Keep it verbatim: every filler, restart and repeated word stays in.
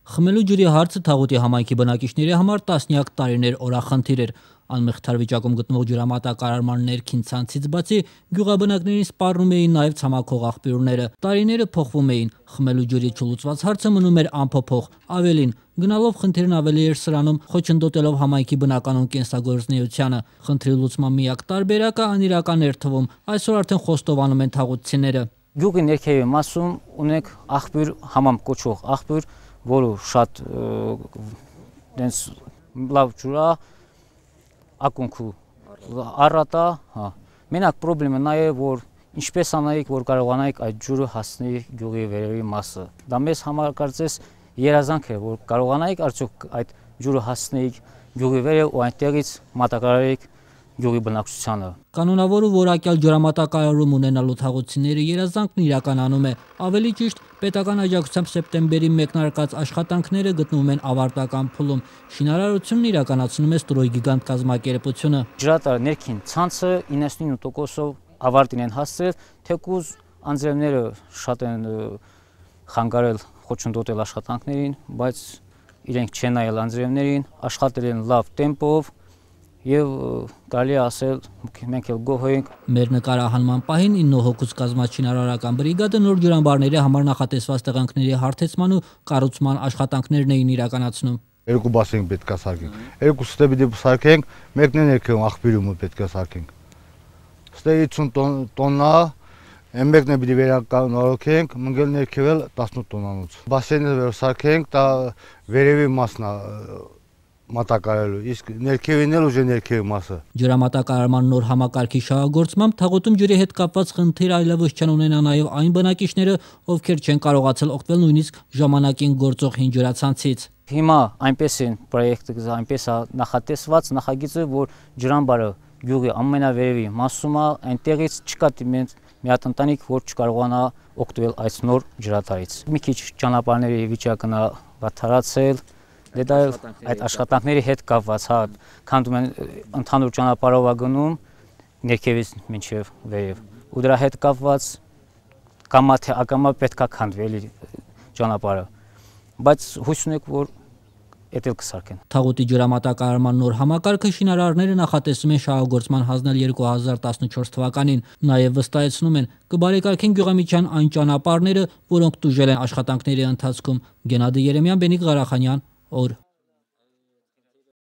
Խմելու ջրի հարցը Թաղուտի համայնքի բնակիչների համար տասնյակ տարիներ օրախնդիր էր։ Անմեղթար վիճակում գտնվող ջրամատակարարման ներքին ցանցից բացի գյուղաբնակներին սպառնում էին նաև ցամաքող աղբյուրները։ Տարիները փոխվում էին, խմելու ջրի չլուծված հարցը մնում էր անփոփոխ։ Ավելին, գնալով խնդիրն ավելի էր սրանում, խոչընդոտելով համայնքի բնականոն կենսագործունեությանը։ Խնդրի լուծման միակ տարբերակը անիրական էր թվում, այսօր արդեն խոստովանում են թաղուտցիները։ Գյուղի ներքևի մասում ունենք աղբյուր, համամ կոչվող աղբյուր, որը շատ դենց լավ ջուր է, ակունքը առատ է, հա։ Մենակ պրոբլեմը նա է, որ ինչպես անայիք, որ կարողանայիք այդ ջուրը հասնի գյուղի վերևի մասը։ Դա մեզ համար կարծես երազանք է, որ կարողանայիք արդյոք այդ ջուրը հասնեիք գյուղի վերև ու այնտեղից մատակարարեիք գյուղի բնակչությանը։ Կանոնավոր ու որակյալ ջրամատակարարում ունենալու թաղուտցիների երազանքն իրականանում է։ Ավելի ճիշտ, պետական աջակցությամբ սեպտեմբերի մեկնարկած աշխատանքները գտնվում են ավարտական փուլում։ Շինարարությունն իրականացնում է Ստրոյ Գիգանտ կազմակերպությունը։ Ջրատարի ներքին ցանցը իննսունինը տոկոսով ավարտին են հասցրել, թեկուզ անձրևները շատ են խանգարել, խոչընդոտել աշխատանքներին, բայց իրենք չեն նայել անձրևներին, աշխատել են լավ տեմպով եւ կարելի է ասել մենք էլ գոհ ենք։ Մեր նկարահանման պահին ինը հոգուց կազմած շինարարական բրիգադը նոր ջրամբարների համար նախատեսված տեղանքների հարթեցման ու կառուցման աշխատանքներն էին իրականացնում։ Երկու բասեն պետք է սարքենք։ Երկու ստե պիտի սարքենք, մեկն է ներքևում աղբյուրում պետք է սարքենք։ Ստե հիսուն տոննա, այն մեկն է պիտի վերականգնենք, մնգել ներքևել տասնութ տոննանոց։ Բասենը սարքենք, դա վերևի մասն է մատակարարելու, իսկ ներքևին էլ ուժ է ներքևի մասը։ Ջրամատակարարման նոր համակարգի շահագործմամբ Թաղուտում ջրի հետ կապված խնդիր այլևս չեն ունենա նաև այն բնակիչները, ովքեր չեն կարողացել օգտվել նույնիսկ ժամանակին գործող հին ջրացանցից։ Հիմա այնպես են պրոյեկտը, այնպես է նախատեսված, նախագիծը, որ ջրամբարը գյուղի ամենավերևի մասում է, այնտեղից չկա մի հատ ընտանիք, որ չկարողանա օգտվել այս նոր ջրատարից։ Մի քիչ ճանապարհների վիճակն է վատթարացել, դա այդ աշխատանքների հետ կապված, հա, քանդում են ընդհանուր ճանապարհով գնում ներքևից մինչև վերև։ Ու դրա հետ կապված կամա թե ակամա պետք է քանդվի ճանապարհը։ Բայց հույս ունենք, որ էդ էլ կսարքեն։ Թաղուտի ջրամատակարարման նոր համակարգը շինարարները նախատեսում են շահագործման հանձնել երկու հազար տասնչորս թվականին։ Նաև վստահեցնում են կբարեկարգեն գյուղամիջյան այն ճանապարհները, որոնք տուժել են աշխատանքների ընթացքում։ Գենադի Երեմյան, Բենիկ Ղարախանյան, օր